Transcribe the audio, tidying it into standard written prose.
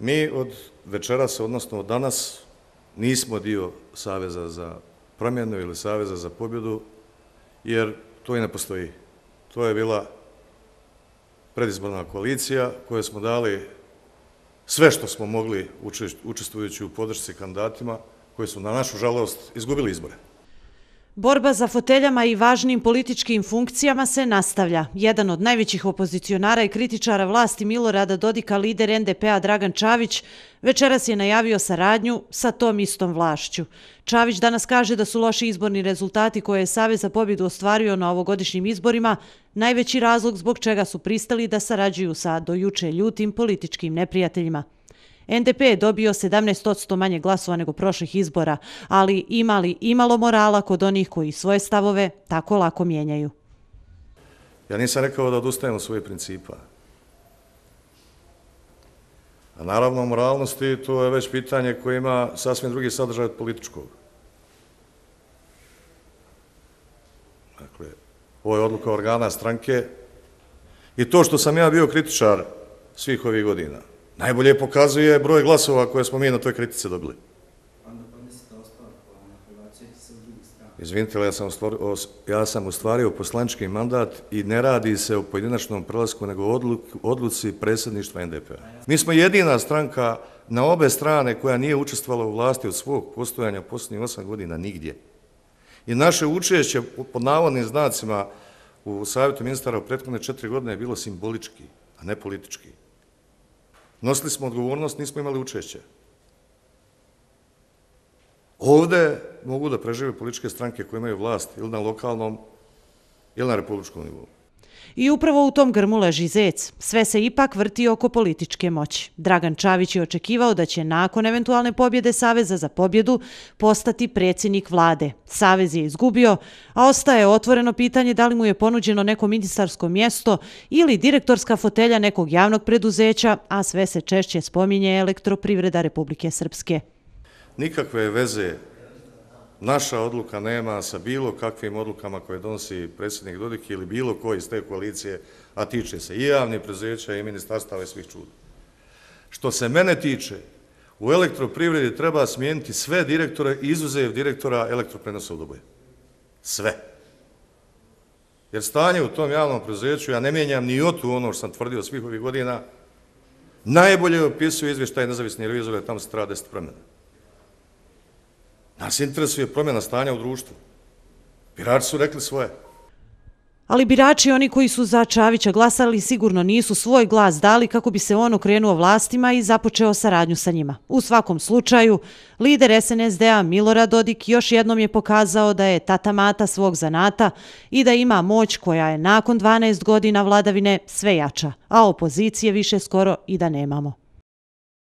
Mi od večeras, odnosno od danas, nismo dio Saveza za promjenu ili Saveza za pobjedu, jer to i ne postoji. To je bila predizborna koalicija kojoj smo dali sve što smo mogli učestvujući u podršci kandidatima koji su na našu žalost izgubili izbore. Borba za foteljama i važnim političkim funkcijama se nastavlja. Jedan od najvećih opozicionara i kritičara vlasti Milorada Dodika, lider NDP-a Dragan Čavić, večeras je najavio saradnju sa tom istom vlašću. Čavić danas kaže da su loši izborni rezultati koje je Savez za pobjedu ostvario na ovogodišnjim izborima najveći razlog zbog čega su pristali da sarađuju sa do juče ljutim političkim neprijateljima. NDP je dobio 17% manje glasova nego prošlih izbora, ali ima li imalo morala kod onih koji svoje stavove tako lako mijenjaju? Ja nisam rekao da odustajem od svojih principa. A naravno, moralnosti, to je već pitanje koje ima sasvim drugi sadržaj od političkog. Dakle, ovo je odluka organa stranke i to što sam ja bio kritičar svih ovih godina najbolje pokazuje broj glasova koje smo mi na toj kritice dobili. Izvinite, ja sam ostvario poslanički mandat i ne radi se o pojedinačnom prelasku, nego o odluci predsjedništva NDP-a. Mi smo jedina stranka na obe strane koja nije učestvovala u vlasti od svog postojanja posljednjih 8 godina nigdje. I naše učešće, pod navodnim znacima, u Savjetu ministara u prethodne 4 godine je bilo simbolički, a ne politički. Nosili smo odgovornost, nismo imali učešće. Ovde mogu da prežive političke stranke koje imaju vlast ili na lokalnom ili na republičkom nivou. I upravo u tom grmu leži zec. Sve se ipak vrti oko političke moći. Dragan Čavić je očekivao da će nakon eventualne pobjede Saveza za pobjedu postati predsjednik vlade. Savez je izgubio, a ostaje otvoreno pitanje da li mu je ponuđeno neko ministarsko mjesto ili direktorska fotelja nekog javnog preduzeća, a sve se češće spominje Elektroprivreda Republike Srpske. Nikakve veze naša odluka nema sa bilo kakvim odlukama koje donosi predsjednik Dodik ili bilo ko iz te koalicije, a tiče se i javnih preduzeća i ministarstava i svih čuda. Što se mene tiče, u Elektroprivredi treba smijeniti sve direktore, izuzev direktora Elektroprenosa u Doboju. Sve. Jer stanje u tom javnom preduzeću, ja ne mijenjam ni otu ono što sam tvrdio svih ovih godina, najbolje opisuje izvještaj nezavisnih revizora, tamo se treba 10 promjena. Nas interesuje promjena stanja u društvu. Birači su rekli svoje. Ali birači, oni koji su za Čavića glasali, sigurno nisu svoj glas dali kako bi se on okrenuo vlastima i započeo saradnju sa njima. U svakom slučaju, lider SNSD-a Milorad Dodik još jednom je pokazao da je tata mata svog zanata i da ima moć koja je nakon 12 godina vladavine sve jača, a opozicije više skoro i da nemamo.